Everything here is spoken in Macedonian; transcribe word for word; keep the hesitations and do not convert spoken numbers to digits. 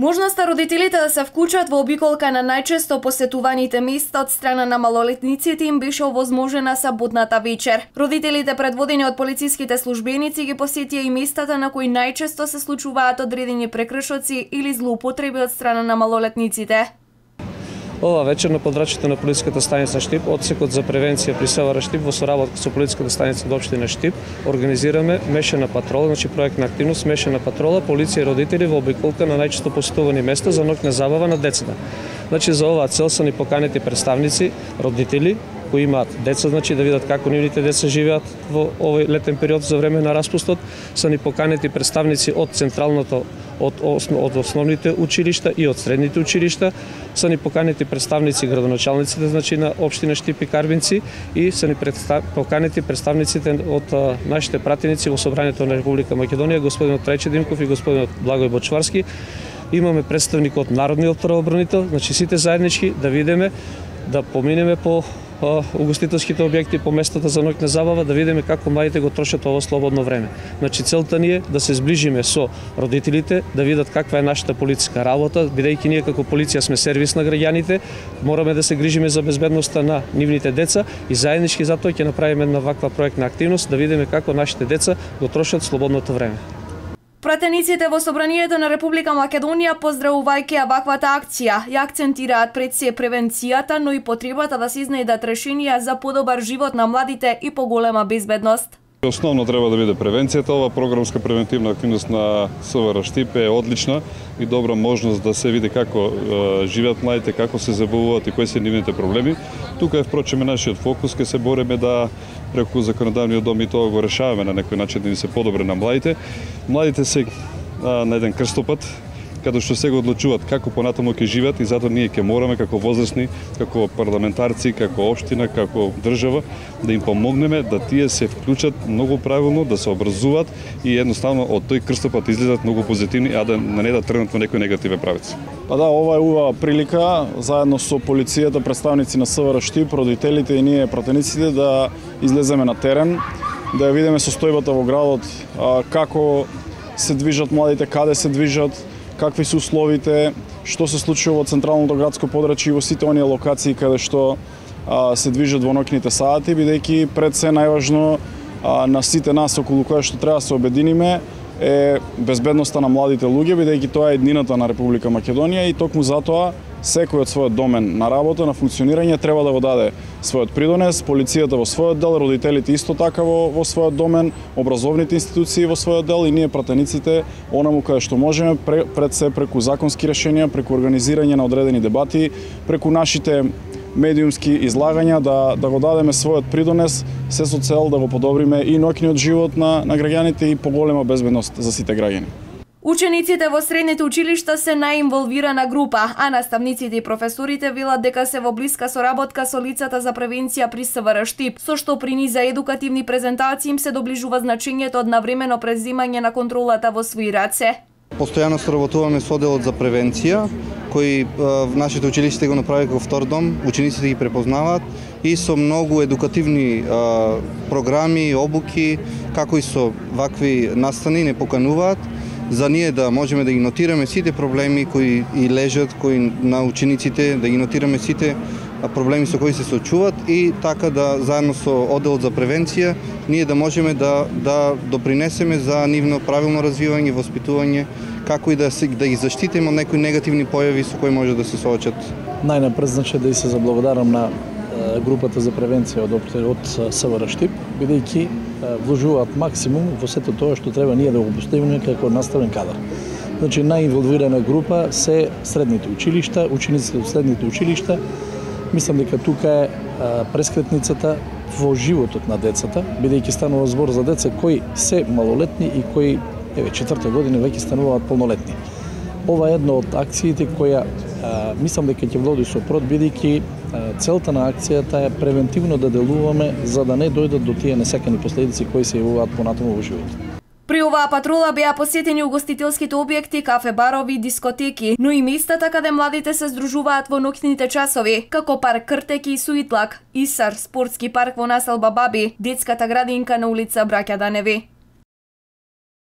Можноста родителите да се вклучат во обиколка на најчесто посетуваните места од страна на малолетниците им беше овозможена саботната вечер. Родителите, предводени од полициските службеници, ги посетија и местата на кои најчесто се случуваат одредени прекршоци или злоупотреби од страна на малолетниците. Ова вечер на подрачите на полициската станица Штип, одсекот за превенција при СВР Штип во соработка со полициската станица од општина Штип, организираме мешана патрола, значи проектна активност, мешана патрола, полиција и родители во обиколка на најчесто посетувани места за ноќна забава на децата. Значи за оваа цел се ни поканети представници, родители кои имаат деца, значи да видат како нивните деца живеат во овој летен период за време на распустот, се ни поканети представници од централното од, од основните училишта и од средните училишта, се ни поканети представници градоначалниците, значи на општина Штип и Карбинци, и се ни представ... поканети представниците од а, нашите пратеници во Собранието на Република Македонија, господинот Трајче Димков и господинот Благој Бочварски. Имаме представник од Народниот правобранител, значи сите заеднички да видиме, да поминеме по угостителските објекти, по местата за ноќна забава, да видиме како младите го трошат ово слободно време. Значи целта ни е да се зближиме со родителите, да видат каква е нашата полициска работа, бидејќи ние како полиција сме сервис на граѓаните, мораме да се грижиме за безбедноста на нивните деца и заеднички затоа ќе направиме една ваква проектна активност, да видиме како нашите деца го трошат слободното време. Пратениците во Собранието на Република Македонија, поздравувајќи ваквата акција, ја акцентираат пред се превенцијата, но и потребата да се изнајдат решенија за подобар живот на младите и поголема безбедност. Основно треба да биде превенцијата. Ова програмска превентивна активност на СВР Штип е одлична и добра можност да се види како е, живеат младите, како се забавуваат и кои се нивните проблеми. Тука е впрочем нашиот фокус, ке се бориме да преку законодавниот дом и тоа го решаваме на некој начин да ни се подобре на младите. Младите се а, на еден крстопат, каде што сега одлучуваат како понатаму ќе живеат и затоа ние ќе мораме како возрастни, како парламентарци, како општина, како држава да им помогнеме да тие се вклучат многу правилно, да се образуваат и едноставно од тој крстопат излезат многу позитивни, а да не да тргнат во некој негативен правец. Па да, ова е убава прилика заедно со полицијата, представници на СВР Штип, родителите и ние пратениците да излеземе на терен, да ја видиме состојбата во градот, како се движат младите, каде се движат, какви се условите, што се случува во централното градско подрачје и во сите оние локации каде што а, се движат во ноќните сати, бидејќи пред се најважно а, на сите нас околу која што треба да се обединиме е безбедноста на младите луѓе, бидејќи тоа е еднината на Република Македонија и токму затоа секој од својот домен на работа, на функционирање треба да го даде својот придонес, полицијата во својот дел, родителите исто така во, во својот домен, образовните институции во својот дел и ние пратениците онаму каде што можеме пред се преку законски решенија, преку организирање на одредени дебати, преку нашите медиумски излагања да да го дадеме својот придонес, се со цел да го подобриме и ноќниот живот на на граѓаните и поголема безбедност за сите граѓани. Учениците во средните училишта се најинволвирана група, а наставниците и професорите велат дека се во блиска соработка со лицата за превенција при СВР Штип, со што при низа едукативни презентации им се доближува значењето од навремено преземање на контролата во своји раце. Постојано соработуваме со одделот за превенција, кои в нашите училишта го направи како втор дом, учениците ги препознаваат и со многу едукативни а, програми, обуки, како и со вакви настани не покануваат за ние да можеме да ги нотираме сите проблеми кои и лежат, кои на учениците, да ги нотираме сите проблеми со кои се соочуваат и така да заедно со одделот за превенција ние да можеме да да допринесеме за нивно правилно развивање, воспитување, како и да се да ги заштитиме од некои негативни појави со кои може да се соочат. Најнапред значи да и се заблагодарам на групата за превенција од од СВР Штип, бидејќи вложуваат максимум во сето тоа што треба ние да го поставиме како наставен кадар. Значи најинволвирана група се средните училишта, учениците од средните училишта. Мислам дека тука е прескретницата во животот на децата, бидејќи станува збор за деца кои се малолетни и кои еве четврта година веќе стануваат полнолетни. Ова е една од акциите која а, мислам дека ќе води со прод, бидејќи целта на акцијата е превентивно да делуваме за да не дојдат до тие несакани последици кои се јавуваат понатаму во животот. При оваа патрола беа посетени угостителските објекти, кафе, барови, дискотеки, но и местата каде младите се здружуваат во ноќните часови, како парк Кртеки и Суитлак, Исар, спортски парк во населба Баби, детската градинка на улица Браќа Даневи.